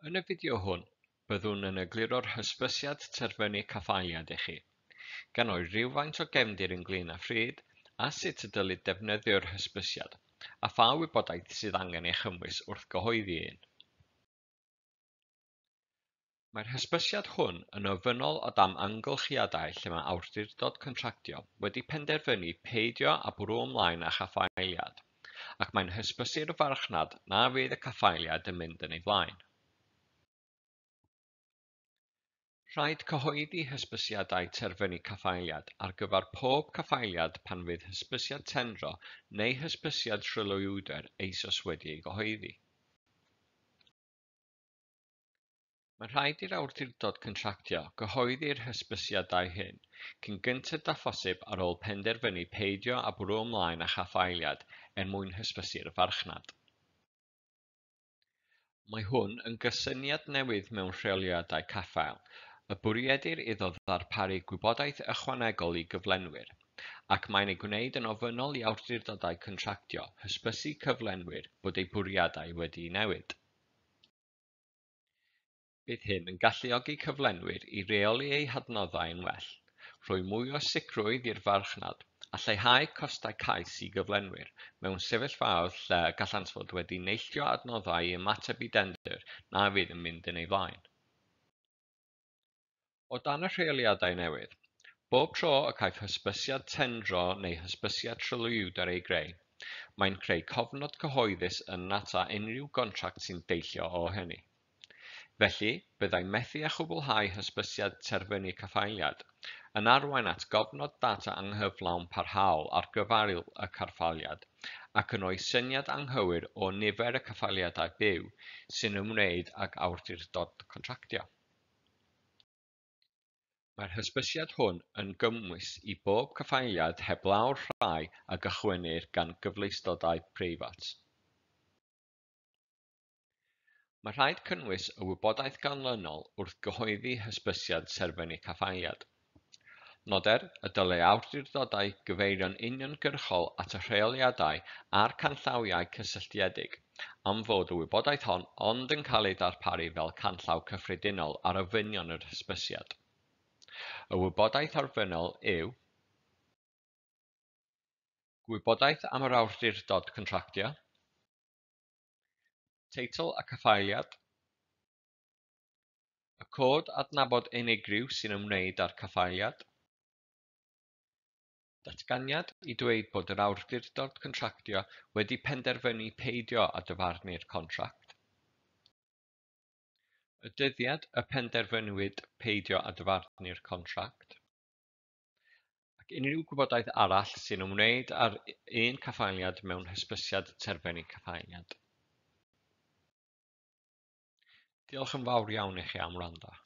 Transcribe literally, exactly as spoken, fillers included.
Yn y fideo hwn, byddwn yn egluro'r hysbysiad terfynu caffaeliad i chi, gan roi rhywfaint o gefndir ynglŷn â phryd a sut y dylid defnyddio'r hysbysiad, a pha wybodaeth sydd angen ei chynnwys wrth gyhoeddi un. Mae'r hysbysiad hwn yn ofynnol o dan amgylchiadau lle mae awdurdod contractio wedi penderfynu peidio â bwrw ymlaen â chaffaeliad, ac mae'n hysbysu'r farchnad na fydd y caffaeliad yn mynd yn ei flaen. Rhaid cyhoeddi hysbysiadau terfynu caffaeliad ar gyfer pob caffaeliad pan fydd hysbysiad tendro neu hysbysiad tryloywder eisoes wedi ei gyhoeddi. Mae'n rhaid i'r awdurdod contractio gyhoeddi'r hysbysiadau hyn cyn gynted â phosib ar ôl penderfynu peidio â bwrw ymlaen â chaffaeliad er mwyn hysbysu'r farchnad. Mae hwn yn gysyniad newydd mewn rheoliadau caffael, y bwriedir iddo ddarparu gwybodaeth ychwanegol i gyflenwyr, ac mae'n ei gwneud yn ofynnol i awdurdodau contractio hysbysu cyflenwyr bod eu bwriadau wedi'u newid. Bydd hyn yn galluogi cyflenwyr i reoli eu hadnoddau yn well, rhoi mwy o sicrwydd i'r farchnad, a lleihau costau cais i gyflenwyr mewn sefyllfaoedd lle gallant fod wedi neilltuo adnoddau i ymateb i dendr na fydd yn mynd yn ei flaen. O dan y rheoliadau newydd, bob tro y caiff hysbysiad tendro neu hysbysiad tryloywder ei greu, mae'n creu cofnod cyhoeddus yn nata unrhyw gontract sy'n deillio o hynny. Felly, byddai methu â chwblhau hysbysiad terfynu caffaeliad yn arwain at gofnod data anghyflawn parhaol ar gyfer y caffaeliad ac yn rhoi syniad anghywir o nifer y caffaeliadau byw sy'n ymwneud ag awdurdod contractio. Mae'r hysbysiad hwn yn gymwys i bob caffaeliad heblaw'r rhai a gychwynnir gan gyfleustodau preifat. Mae rhaid cynnwys y wybodaeth ganlynol wrth gyhoeddi hysbysiad terfynu caffaeliad. Noder y dylai awdurdodau gyfeirio'n uniongyrchol at y rheoliadau a'r canllawiau cysylltiedig, am fod y wybodaeth hon ond yn cael ei darparu fel canllaw cyffredinol ar ofynion yr hysbysiad. Y wybodaeth arfynnol yw gwybodaeth am yr awdurdod contractio, teitl y caffaeliad, y cod adnabod unigryw sy'n ymwneud â'r caffaeliad, datganiad i dweud bod yr awdurdod contractio wedi penderfynu peidio â dyfarnu'r contract, y dyddiad y penderfynwyd peidio â dyfarnu'r contract, ac unrhyw gwybodaeth arall sy'n ymwneud â'r un caffaeliad mewn hysbysiad terfynu caffaeliad. Diolch yn fawr iawn i chi am wrando.